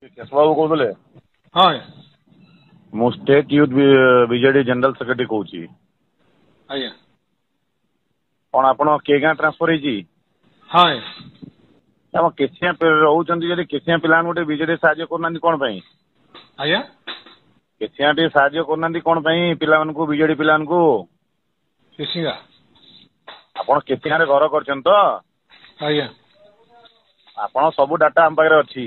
କେଶବ ବାବୁ କହୁଥିଲେ? ହଁ ଆଜ୍ଞା। ମୁଁ state youth BJD general secretary କହୁଛି। ଆଜ୍ଞା। କଣ ଆପଣ କେ ଗାଁ ଟ୍ରାନ୍ସଫର ହେଇଛି? ହଁ ଆଜ୍ଞା। ଆମ କେସିଆ ରହୁଛନ୍ତି, ଯଦି କେସିଆ ପିଲାମାନଙ୍କୁ ଟିକେ ବିଜେଡି ସାହାଯ୍ୟ କରୁନାହାନ୍ତି କଣ ପାଇଁ? ଆଜ୍ଞା। କେସିଆ ଟିକେ ସାହାଯ୍ୟ କରୁନାହାନ୍ତି କଣ ପାଇଁ ପିଲାମାନଙ୍କୁ, ବିଜେଡି ପିଲାମାନଙ୍କୁ? କେସିଙ୍ଗା? ଆପଣ କେସିଆରେ ଘର କରିଛନ୍ତି ତ? ଆଜ୍ଞା। ଆପଣ ସବୁ ଡାଟା ଆମ ପାଖରେ ଅଛି।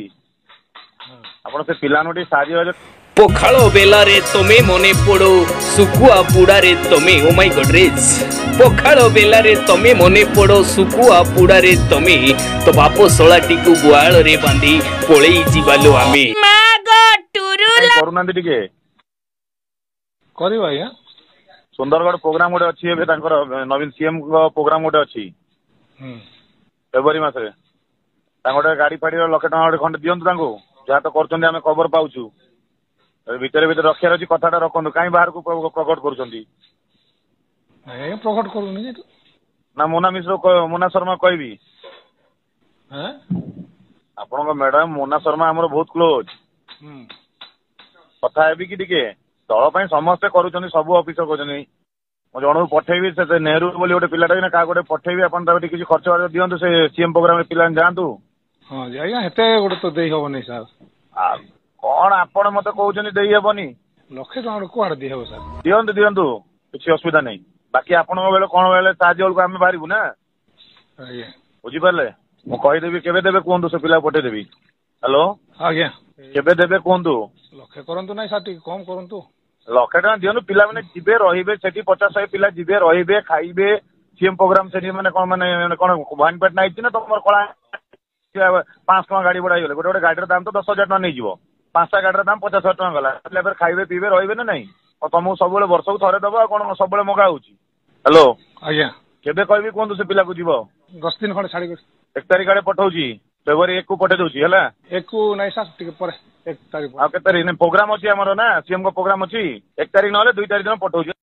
ଆପଣ ସେ ପିଲାମାନଙ୍କୁ ଟିକେ ସାହାଯ୍ୟ। ପଖାଳ ବେଲାରେ ତମେ ମନେ ପଡୋ, ଶୁଖୁଆ ପୁଡାରେ ତମେ, ଓ ମାଇ ଗଡରେଜ। ପଖାଳ ବେଲାରେ ତମେ ମନେ ପଡୋ, ଶୁଖୁଆ ପୁଡାରେ ତମେ, ତ ବାପ ଶଳାଟିକୁ ଗୁହାଳରେ ବାନ୍ଧି ପଳେଇ ଯିବାଲୋ ଆମେ। କରୁନାହାନ୍ତି ଟିକେ? କରିବା ଆଜ୍ଞା। ସୁନ୍ଦରଗଡ଼ ପ୍ରୋଗ୍ରାମ ଗୋଟେ ଅଛି ଏବେ ତାଙ୍କର, ନବୀନ ସିଏମଙ୍କ ପ୍ରୋଗ୍ରାମ ଗୋଟେ ଅଛି ଫେବୃଆରୀ ମାସରେ। ତାଙ୍କ ଗୋଟେ ଗାଡି ଫାଡିର ଲକ୍ଷେ ଟଙ୍କା ଗୋଟେ ଖଣ୍ଡେ ଦିଅନ୍ତୁ ତାଙ୍କୁ। ଯାହା ତ କରୁଛନ୍ତି ଆମେ ଖବର ପାଉଛୁ। ଭିତରେ ଭିତରେ ରଖିବାର ଅଛି, କଥାଟା ରଖନ୍ତୁ। କାହିଁ ବାହାରକୁ ପ୍ରକଟ କରୁଛନ୍ତି? ଆଜ୍ଞା, ପ୍ରକଟ କରୁନି। ନା ମୋନା ମିଶ୍ର, ମୋନା ଶର୍ମା କହିବି? ଆପଣଙ୍କ ମ୍ୟାଡାମ ମୋନା ଶର୍ମା ଆମର ବହୁତ କ୍ଲୋଜ। କଥା ହେବି କି ଟିକେ? ଦଳ ପାଇଁ ସମସ୍ତେ କରୁଛନ୍ତି, ସବୁ ଅଫିସର କରୁଛନ୍ତି। ମୁଁ ଜଣକୁ ପଠେଇବି, ସେ ନେହେରୁ ବୋଲି ଗୋଟେ ପିଲାଟା ନା କାହାକୁ ଗୋଟେ ପଠେଇବି। ଆପଣ ତାକୁ ଟିକେ କିଛି ଖର୍ଚ୍ଚ ବାର୍ଚ୍ଚ ଦିଅନ୍ତୁ, ସେ ସିଏମ୍ ପ୍ରୋଗ୍ରାମରେ ପିଲାମାନେ ଯାଆନ୍ତୁ। ହଁ ଆଜ୍ଞା, ଏତେ ଗୋଟେ ତ ଦେଇ ହବନି ସାର୍। କଣ ଆପଣ ମତେ କହୁଛନ୍ତି ଦେଇ ହେବନି? ଲକ୍ଷେ ଟଙ୍କା କୁଆଡେ ଦେଇ ହବ ସାର୍? ଦିଅନ୍ତୁ ଦିଅନ୍ତୁ, କିଛି ଅସୁବିଧା ନାହିଁ। ବାକି ଆପଣଙ୍କ ବେଳେ କଣ ବେଳେ ସାହାଯ୍ୟ ବେଳକୁ ଆମେ ବାହାରିବୁ ନା। ଆଜ୍ଞା। ବୁଝିପାରିଲେ? ମୁଁ କହିଦେବି। କେବେ ଦେବେ କୁହନ୍ତୁ, ସେ ପିଲାକୁ ପଠେଇଦେବି। ହ୍ୟାଲୋ? ଆଜ୍ଞା। କେବେ ଦେବେ କୁହନ୍ତୁ। ଲକ୍ଷେ କରନ୍ତୁ ନାହିଁ ସାର୍, ଟିକେ କମ କରନ୍ତୁ। ଲକ୍ଷେ ଟଙ୍କା ଦିଅନ୍ତୁ, ପିଲାମାନେ ଯିବେ ରହିବେ ସେଠି। 50 100 ପିଲା ଯିବେ, ରହିବେ, ଖାଇବେ। ସିଏମ୍ ପ୍ରୋଗ୍ରାମ ସେଠି ମାନେ କଣ, ମାନେ କଣ ଭବାନୀପାଟଣା ହେଇଛି ନା ତମର କଳା? 500 ଟଙ୍କା ଗାଡି ଭଡା ହେଇଗଲେ ଗୋଟେ ଗୋଟେ ଗାଡିର ଦାମ ତ 10,000 ଟଙ୍କା ନେଇଯିବ। ପାଞ୍ଚଟା ଗାଡିର ଦାମ 50,000 ଟଙ୍କା ଗଲା। ପିଲା ଫେର ଖାଇବେ, ପିଇବେ, ରହିବେ ନା ନାଇଁ? ଆଉ ତମକୁ ସବୁବେଳେ ବର୍ଷକୁ ଥରେ ଦବ, ଆଉ କଣ ସବୁବେଳେ ମଗା ହଉଛି? ହ୍ୟାଲୋ? ଆଜ୍ଞା। କେବେ କହିବି କୁହନ୍ତୁ, ସେ ପିଲାକୁ ଯିବ? 10 ଦିନ ଖଣ୍ଡେ ଛାଡିକି। 1 ତାରିଖ ଆଡେ ପଠଉଛି, ଫେବୃଆରୀ 1କୁ ପଠେଇ ଦଉଛି, ହେଲା? 1କୁ ନାଇଁ ସାର୍, ଟିକେ ପରେ, 1 ତାରିଖ। ଆଉ କେତେ ତାରିଖ? ପ୍ରୋଗ୍ରାମ ଅଛି ଆମର ନା, ସିଏମଙ୍କ ପ୍ରୋଗ୍ରାମ ଅଛି। 1 ତାରିଖ ନହେଲେ 2 ତାରିଖ ଦିନ ପଠଉଛି।